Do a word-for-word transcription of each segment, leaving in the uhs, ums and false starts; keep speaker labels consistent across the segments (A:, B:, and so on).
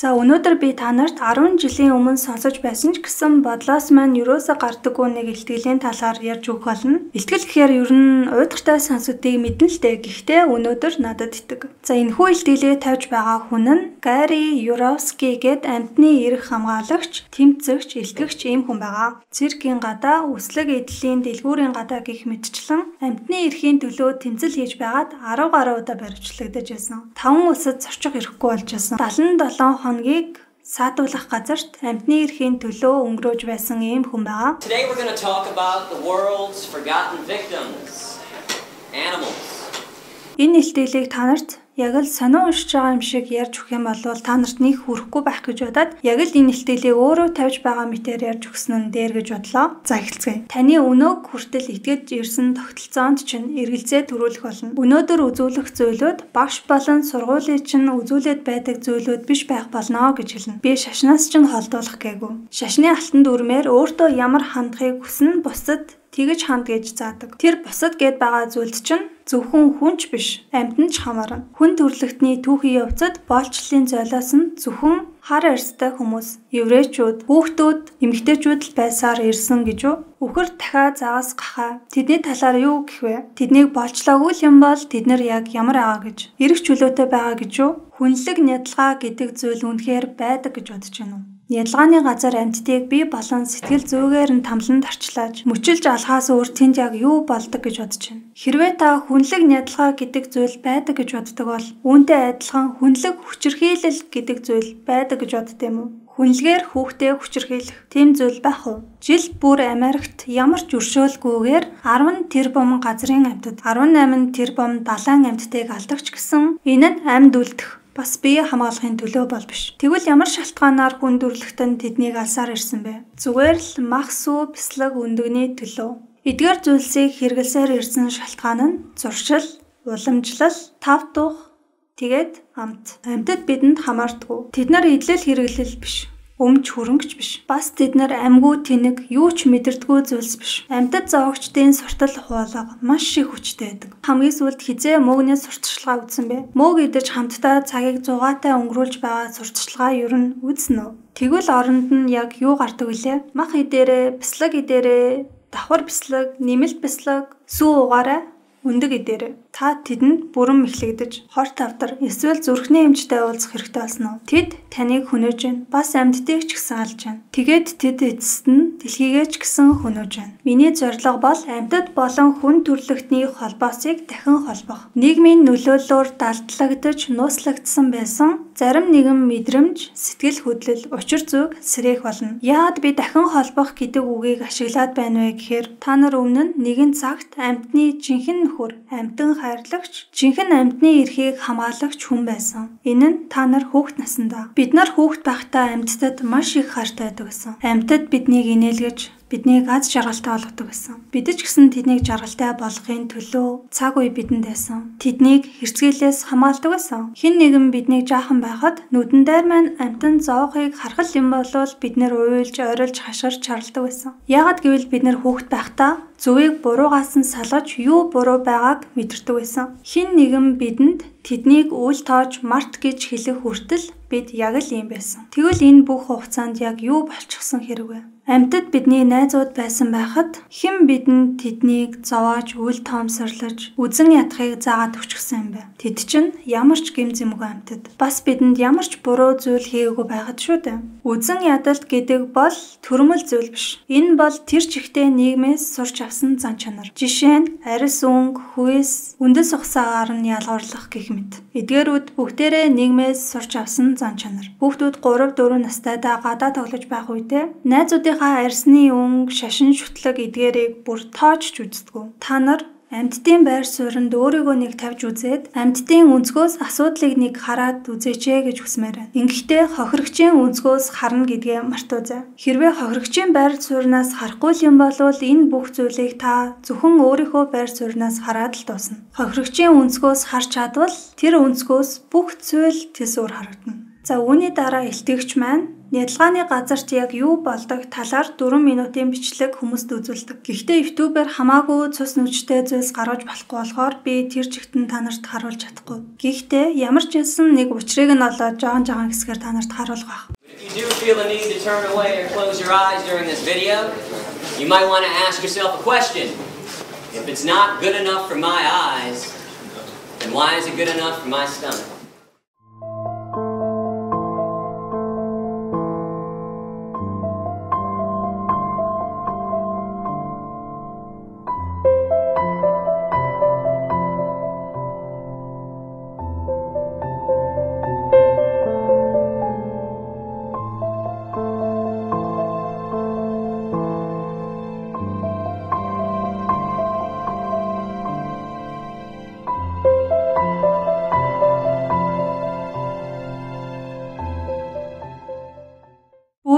A: За өнөөдөр би та нарт арван жилийн өмнө сонсож байсан ч гэсэн бодлоос маань юусоо гардаггүй нэг илтгэлийн талаар ярьж өгөх болно. Илтгэл гэхээр ер нь уйдгартай сонсодгийг мэднэ л дээ. Гэхдээ өнөөдөр надад итэг. За энэхүү илтгэлээ тавьж байгаа хүн нь Гари Юровский гээд амьтны эрх хамгаалагч, тэмцэгч, илтгэгч ийм хүн байгаа. Циркийн гадаа, үслэг эдлийн дэлгүүрийн гадаа гих мэтчлэн амьтны эрхийн төлөө тэмцэл хийж байгаад арав гаруй удаа баривчлагдаж байсан. таван улсад зорчих ирэхгүй болж байсан. далайн долоон хоногийг саатуулах газарт амьтны эрхийн төлөө өнгөрөөж байсан ийм хүн байгаа.
B: Today we're going to talk about the world's forgotten victims, animals.
A: Энэ илтгэлийг та нарт яг л сонио уншиж байгаа юм шиг ярьж өгөх юм бол та нарт нэг хүрэхгүй байх гэж бодоод яг л энэ илтгэлийг өөрөө тавьж байгаа мэтээр ярьж өгсөн нь дээр гэж бодлоо. За эхэлцгээе. Таны өнөөг хүртэл итгэж ирсэн тогтолцоонд чинь эргэлзээ төрүүлэх болно. Өнөөдөр үзүүлэх зүйлүүд багш болон сургуулийн чинь үзүүлээд байдаг зүйлүүд биш байх болно гэж хэлнэ. Би шашнаас чинь холдуулах гээгүй. Шашны алтан дүрмээр өөртөө ямар хандахыг хүснэ бусад тэгж ханд гэж заадаг. Тэр бусад гэд байгаа зүйлд чинь зөвхөн хүнч биш, амьтан ч хамаарна. Хүн төрлөختний түүхийн явцад боолчлын золиос нь зөвхөн хар арьстай хүмүүс, еврейчүүд, хүүхдүүд, эмэгтэйчүүд л байсаар ирсэн гэж үү? Үхэр дахиад загас гахаа. Тэдний талаар юу гэх вэ? Тэднийг болчлоогүй юм бол тэд нар яг ямар байгаа гэж? Ирэх чөлөөтэй байгаа гэж үү? Хүнлэг нядалгаа гэдэг зүйл үнэхээр байдаг гэж бодож байна уу? Ядалгааны газар амьтдыг бие болон сэтгэл зүгээр нь тамлан тарчлааж мөчилж алхаас өөр тэнд яг юу болдог гэж бодож байна. Хэрвээ та хүнлэг нядалгаа гэдэг зүйл байдаг гэж боддог бол үүнтэй адилхан хүнлэг хүчирхийлэл гэдэг зүйл байдаг гэж бодд юм уу? Хүнлэгээр хүүхдээ хүчирхийлэх тийм зүйл байх уу? Жил бүр Америкт ямар ч өршөөлгүйгээр арван тэрбум газрын амьтад, арван найман тэрбум далайн амьтдыг алдагч гэсэн энэ нь амьд үлдэх бас бие хамгаалахын төлөө бол биш. Тэгвэл ямар шалтгаанаар хүн төрлөختөнд тэднийг алсаар ирсэн бэ? Зүгээр л мах сүү бяцлаг өндөгний төлөө. Эдгээр зүйлсийг хэрэглэсээр ирсэн шалтгаан нь зуршил, уламжлал, тав тух, тэгээд амт. Амьтад бидэнд хамаардаггүй. Тэд нар идэл хэрэглэл биш. Өмч хөрөнгөч биш. Бас тэд нар амьгүй тэнэг, юу ч мэдэрдэггүй зүйлс биш. Амьтад зоогчдын суртал хуулга маш их хүчтэй байдаг. Хамгийн сүүлд хизээ мөөгний сурталчилгаа үзсэн бэ? Мөөг идэж хамтдаа цагийг зугаатай өнгөрүүлж байгаа сурталчилгаа ер нь үзнэ үү? Тэгвэл оронд нь яг юу гардаг вүлээ? Мах идээрээ, бяцлаг идээрээ, давхар бяцлаг, нэмэлт бяцлаг, сүү угаарай, өндөг идээрээ. Та тэдэнд бүрэн мэхлэгдэж, хор тавдар, эсвэл зүрхний эмчтэй уулзах хэрэгтэй болсон уу? Тэд таныг хөнөөж байна. Бас амьдтыг ч гэсэн алж байна. Тэгээд тэд эцэст нь дэлхийгээ ч гэсэн хөнөөж байна. Миний зорилго бол амьтад болон хүн төрлөختний холбоосыг дахин холбох. Нийгмийн нөлөөллөөр далдлагдаж, нууцлагдсан байсан зарим нэгэн мэдрэмж, сэтгэл хөдлөл, учир зүг сэрэх болно. Яагаад би дахин холбох гэдэг үгийг ашиглаад байна вэ гэхээр та нар өмнө нь нэгэн цагт амьтны жинхэнэ нөхөр, амьтан хайрлагч, жинхэнэ амьтны эрхийг хамгаалагч хүн байсан. Энэ нь та нар хүүхэд насндаа. Бид нар хүүхэд байхдаа амьтдад маш их хайртай байдаг гэсэн. Амьтад биднийг инээлгэж, биднийг аз жаргалтай болгодог гэсэн. Бид ч гэсэн тэднийг жаргалтай болгохын төлөө цаг үе бидэнд байсан. Тэднийг хэрцгийлээс хамгаалдаг байсан. Хэн нэгэн биднийг жаахан байхад нүдэн дээр маань амтан зоохыг харахад юм болвол бид нэр уйлж, ойролж, хашгирч чарладаг байсан. Яагад гэвэл бид нэр хүүхэд байхдаа зүгийг буруугаас нь салгаж юу буруу байгааг мэдэрдэг байсан. Хэн нэгэн бидэнд тэднийг үл тоож март гэж хэлэх хүртэл бид яг л ийм байсан. Тэгвэл энэ бүх хугацаанд яг юу болчихсон хэрэг вэ? Амьтад бидний найзууд байсан байхад хэн бидэнд тэднийг зовоож үл тоомсорлож үзэн ядахыг заагаад өчгсөн юм бэ? Тэд чинь ямар ч гэм зэмгүй амьтад. Бас бидэнд ямар ч буруу зүйл хийгээгүй байхад шүү дээ. Үзэн ядалт гэдэг бол төрөмөл зүйл биш. Энэ бол тэр чигтээ нийгмээс сурч авсан зан чанар. Жишээ нь арьс өнгө, хүйс, үндэс ухсаагаар нь ялгуурлах гэх мэт. Эдгээрүүд бүгдээрээ нийгмээс сурч авсан зан чанар. Хүүхдүүд гурав дөрөв настайдаа гадаа тоглож байх үедээ найзуудынхаа арьсны өнгө, шашин шүтлэг эдгээрийг бүр тоож ч үздэггүй. Та нар амьтдын байр суурьнд өөрийгөө нэг тавьж үзээд амьтдын өнцгөөс асуудлыг нэг хараад үзээч гэж хүсмээр байна. Ингэхдээ хохирогчийн өнцгөөс харна гэдгээ мартуузай. Хэрвээ хохирогчийн байр сууриас харахгүй юм бол энэ бүх зүйлийг та зөвхөн өөрийнхөө байр сууриас хараад л дуусна. Хохирогчийн өнцгөөс харж чадвал тэр өнцгөөс бүх зүйл тэсвэр харагдана. За үүний дараа илтгэгч маань Нядалгааны газарт яг юу болдог талаар дөрвөн минутын бичлэг хүмүүст үзүүлдэг. Гэхдээ YouTube-ээр хамаагүй цус нүчтэй зүйлс гаргаж болохгүй болохоор би тэр чигтэн та нарт харуулж чадахгүй. Гэхдээ ямар ч хэлсэн нэг учрыг нь олоод жоон жоон хэсгээр та нарт харуулах байх.
B: If you do feel the need to turn away or close your eyes during this video, you might want to ask yourself a question. If it's not good enough for my eyes, then why is it good enough for my stomach?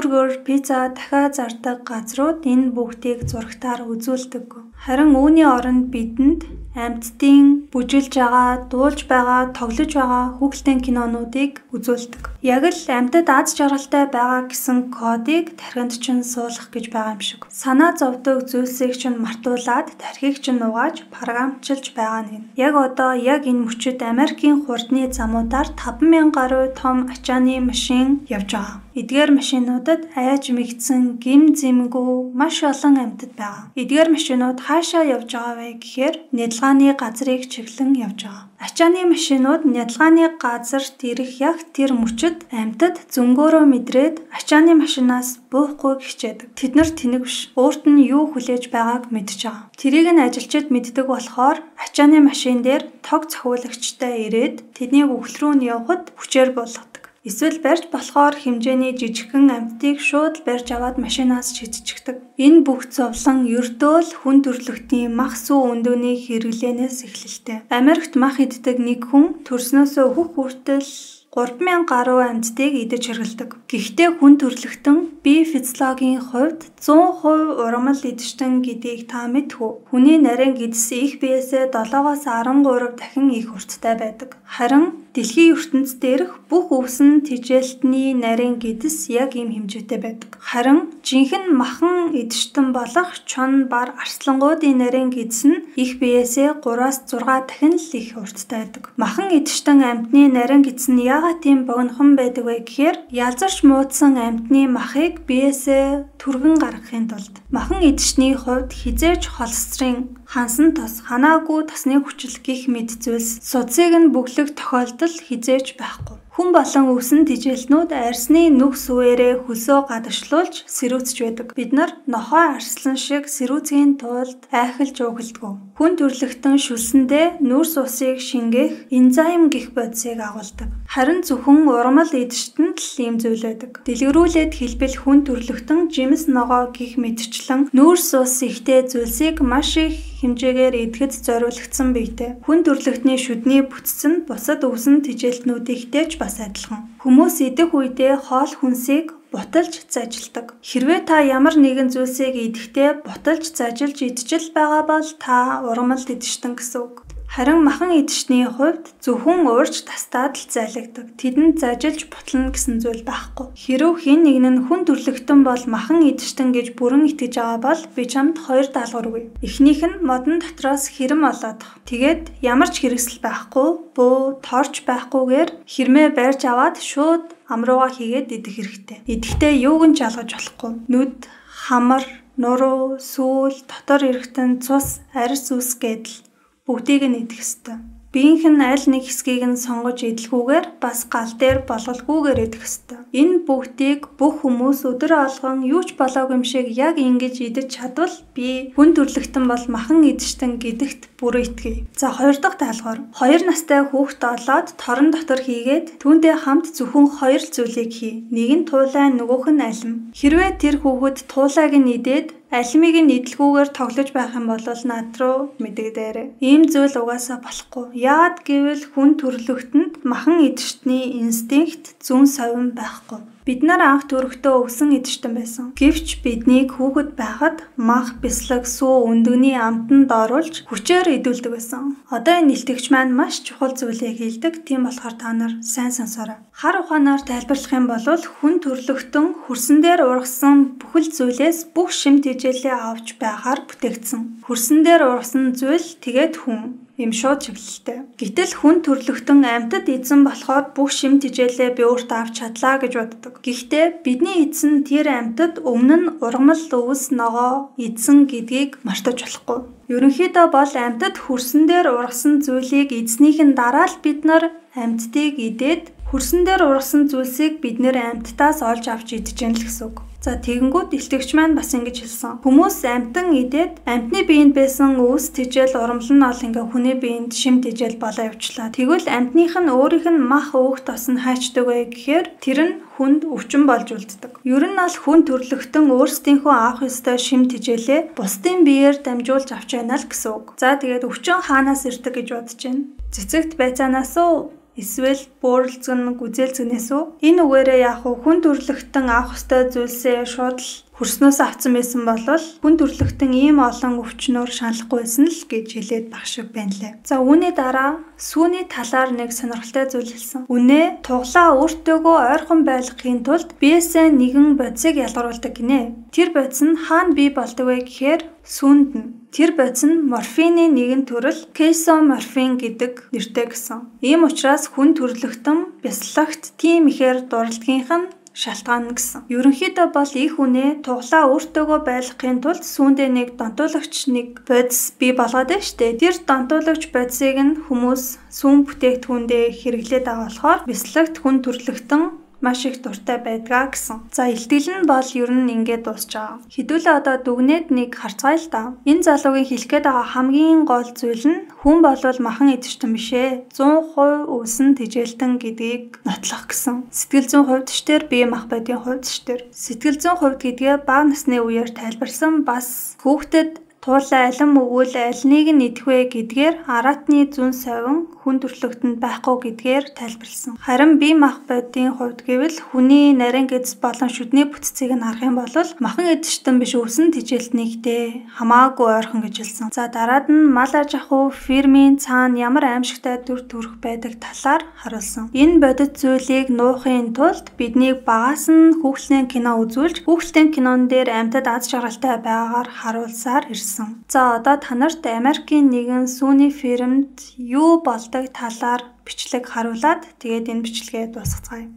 A: Бургер, пицца дахиад зардаг газрууд энэ бүгдийг зурагтаар үзүүлдэг. Харин үүний оронд бидэнд амьтдын бүжилж байгаа, дуулж байгаа, тоглож байгаа хүүхэлдэйн кинонуудыг үзүүлдэг. Яг л амьтад аз жаргалтай байгаа гэсэн кодыг тархинд чинь суулгах гэж байгаа юм шиг. Санаа зовдөг зүйлсийг чинь мартуулад тархийг чинь угааж програмчилж байгаа нь. Яг одоо яг энэ мөчид Америкийн хурдны замуудаар таван мянган гаруй том ачааны машин явж байгаа. Эдгээр машинуудад айж мэгдсэн гим зэмгүй маш олон амьтад байгаа. Эдгээр машинууд хаашаа явж байгаа вэ гэхээр нядалгааны газрыг чиглэн явж байгаа. Ачааны машинууд нядалгааны газарт ирэх яг тэр мөчид амьтад зөнгөөрөө мэдрээд ачааны машинаас буухгүй хичээдэг. Тэд нар тэнэг биш. Өөрт нь юу хүлээж байгааг мэдж байгаа. Тэрийг нь ажилчид мэддэг болохоор ачааны машин дээр тог цохиулагчтай ирээд тэднийг үхэл рүү нь явахад хүчээр болгодог. Эсвэл барьж болохоор хэмжээний жижигхэн амьтдыг шууд барьж аваад машинаас шидчихдэг. Энэ бүх зовлон ердөө л хүн төрлөختийн мах сүү өндөөний хэрэглэнээс эхэлдэг. Америкт мах иддэг нэг хүн төрснөөсөө хөх хүртэл гурван мянган гаруй амьтдыг идэж хэргэлдэг. Гэхдээ хүн төрлөختөн бие физиологийн хувьд зуун хувь ургамал идэгчтэн гэдгийг та мэдхүү. Хүний нарийн гидс их биесээ долоогоос арван гурав дахин их урттай байдаг. Харин дэлхийн ертөнцид дээрх бүх өвсөн тэжээлтний нарийн гидс яг ийм хэмжээтэй байдаг. Харин жинхэнэ махан идэгчтэн болох чон бар арслангуудын нарийн гидс нь их биесээ гураваас зургаан дахин л их урттай байдаг. Махан идэгчтэн амьтны нарийн гидс нь яагаад тийм богинохон байдаг вэ гэхээр ялзарч муудсан амьтны махыг биесээ түргэн гаргахын тулд махан идэгчний хувьд хизээж холестерин, хансан тос, ханаагүй тосны хүчил гих мэд зүйлс судсыг нь бүглэх тохиолдол хизээж байхгүй. Хүн болон өвсөн тэжээлтнүүд арсны нүх сүвээрээ хөлсөө гадагшлуулж сэрүүцж байдаг. Бид нар нохой арслан шиг сэрүүцгийн тулд айхалж уугладаг. Хүн төрлөختөн шүлсэндээ нүрс усыг шингээх энзим гэх бодисыг агуулдаг. Харин зөвхөн ургамал идэгчтэнд л ийм зүйл байдаг. Дэлгэрүүлээд хэлбэл хүн төрлөختөн жимс ногоо гих мэдчлэн нүрс ус ихтэй зүйлсийг маш их хэмжээгээр идэхэд зориулагдсан биетэй. Хүн төрлөختний шүдний бүтц нь бусад өвсөн тэжээлтнүүдийнхтэй бас адилхан. Хүмүүс идэх үедээ хоол хүнсийг буталж зажилдаг. Хэрвээ та ямар нэгэн зүйлсийг идэхдээ буталж зажилж идчихэл байгаа бол та ургамал идэгчтэн гэсэн үг. Харин махан идэгчний хувьд зөвхөн уурж тастаад л зайлагдаг. Тэдэнд зажилж бутлана гэсэн зүйл байхгүй. Хэрв хэн нэг нь хүн төрлөختөн бол махан идэгчтэн гэж бүрэн итгэж байгаа бол би чамд хоёр даалгавар өгье. Эхнийх нь модон дотроос хэрэм олоод. Тэгээд ямар ч хэрэгсэл байхгүй, бөө, торч байхгүйгээр хэрмээ барьж аваад шууд амрууга хийгээд идэх хэрэгтэй. Идэхдээ юуг нь жалгаж болохгүй. Нүд, хамар, нуруу, сүүл, дотор эргэтэн, цус, арьс үс гэдэл бүгдийг нь идэх ёстой. Биеийнх нь аль нэг хэсгийг нь сонгож идэлгүйгээр бас гал дээр болголгүйгээр идэх ёстой. Энэ бүгдийг бүх хүмүүс өдөр алган юу ч болоогүй юм шиг яг ингэж идэж чадвал би хүн төрлөختөн бол махан идэгчтэн гэдэгт бүрэн итгэе. За хоёр дахь даалгавар. Хоёр настай хүүхэд олоод торон дотор хийгээд түүнтэй хамт зөвхөн хоёр зүйлийг хий. Нэг нь туулай, нөгөөх нь алим. Хэрвээ тэр хүүхэд туулайг нь идээд алимыг нь идэлгүйгээр тоглож байх юм бол над руу мэдэгдээрэй. Ийм зүйл угаасаа болохгүй. Яад гэвэл хүн төрлөختөнд махан идэгчтний инстинкт зүүн совин байхгүй. Бид нар анх төрөхдөө өвсөн эдэртэн байсан. Гэвч биднийг хүүхэд байхад мах, бяцлаг, сүү, өндөгний амтанд оруулж хүчээр идүүлдэг байсан. Одоо энэ нэлтгч маань маш чухал зүйлийг хэлдэг. Тийм болохоор та нар сайн сонсоорой. Хар ухаанаар тайлбарлах юм бол хүн төрлөختөн хөрсөн дээр ургасан бүхэл зүйлээс бүх шимт хичээлээ авч байгаар бүтээгдсэн. Хөрсөн дээр ургасан зүйл тэгээд хүн юм шууд чиглэлтэй. Гэтэл хүн төрлөختөн амьтад эзэн болохоор бүх шимт хичээлээ би өөртөө авч чадлаа гэж боддог. Гэхдээ бидний эзэн тэр амьтад өмнө нь ургамал өвс ногоо эзэн гэдгийг мартаж болохгүй. Ерөнхийдөө бол амьтад хөрсөн дээр ургасан зүйлийг эзнийхэн дараа л бид нар амьтдыг идээд хөрсөн дээр ургасан зүйлсийг бид нэр амьтдаас олж авч идэж яана л гэсэн үг. За тэгэнгүүт илтгэгч маань бас ингэж хэлсэн. Хүмүүс амьтан идээд амьтны биеинд байсан өвс тэжээл урамлал нь ол ингээ хүний биеинд шим тэжээл болоо явчлаа. Тэгвэл амьтных нь өөрийнх нь мах өөх тос нь хайчдаг вэ гэхээр тэр нь хүнд өвчин болж үлддэг. Ер нь бол хүн төрлөختөн өөрсдийнхөө авах ёстой шим тэжээлээ бусдын биеэр дамжуулж авч яана л гэсэн үг. За тэгээд өвчин хаанаас ирдэг гэж бодож байна. Цэцэгт байцаанаас уу? Эсвэл бөөрөлцгөн гүзээлцгнээс үү? Энэ үгээрээ яг хүн төрлөختөн авах ёстой зүйлсээ шууд л хөрснөөс авсан байсан бол хүн төрлөختөн ийм олон өвчнөөр шаналхгүй байсан л гэж хэлээд баг шиг байна лээ. За үүний дараа сүүний талаар нэг сонирхолтой зүйл хэлсэн. Үнэ туглаа өөртөөгөө ойрхон байлгахын тулд биесээ нэгэн бодисыг ялгаруулдаг гинэ. Тэр бодис нь хаана бий болдог вэ гэхээр сүүнд нь. Тэр бодис нь морфины нэгэн төрөл кейсоморфин гэдэг нэртэй гэсэн. Ийм учраас хүн төрлөختөн бясалгагт тийм ихээр дурладгийнх нь шалтгаан гэсэн. Ерөнхийдөө бол их үнэ туглаа өөртөөгөө байлгахын тулд сүүндээ нэг донтуулагч нэг бодис бий болгоод байна штэ. Тэр донтуулагч бодисыг нь хүмүүс сүүн бүтээгдэхүүндээ хэрэглээд байгаа болохоор бясалгагт хүн төрлөختөн маш их дуртай байдгаа гэсэн. За илтгэл нь бол ер нь ингээд дуусч байгаа. Хэдүүлээ одоо дүгнээд нэг харцгаая л да. Энэ залуугийн хэлэх гээд байгаа хамгийн гол зүйл нь хүн болвол махан эдэртэн биш ээ. зуун хувь өвсөн тэжээлтэн гэдгийг нотлох гэсэн. Сэтгэл зүйн хувьд ч тэр бие мах байдгийн хувьд ч тэр. Сэтгэл зүйн хувьд гэдгээ бага насны үеэр тайлбарсан бас хүүхдэд туулаа алин өгвөл аль нэг нь идэх вэ гэдгээр аратны зүүн совин хүн төрлөختөнд байхгүй гэдгээр тайлбарлсан. Харин бие мах бодийн хувьд гэвэл хүний нарийн гэдэс болон шүдний бүтцийг нь харах юм бол махан эдэртэн биш өвсөн тэжээлтнийхтэй хамаагүй ойрхон гэж хэлсэн. За дараад нь мал аж ахуй фермийн цаана ямар аимшигтай төр төрөх байдаг талаар харуулсан. Энэ бодит зүйлийг нуухын тулд биднийг багаас нь хүүхэлдэйн кино үзүүлж хүүхэлдэйн кинон дээр амьтад аз жаргалтай байгаагаар харуулсаар ирсэн. За одоо та нарт Америкийн нэгэн сүүний фермд юу болдог талаар бичлэг харуулад тэгээд энэ бичлэгээ дуусгацгаая.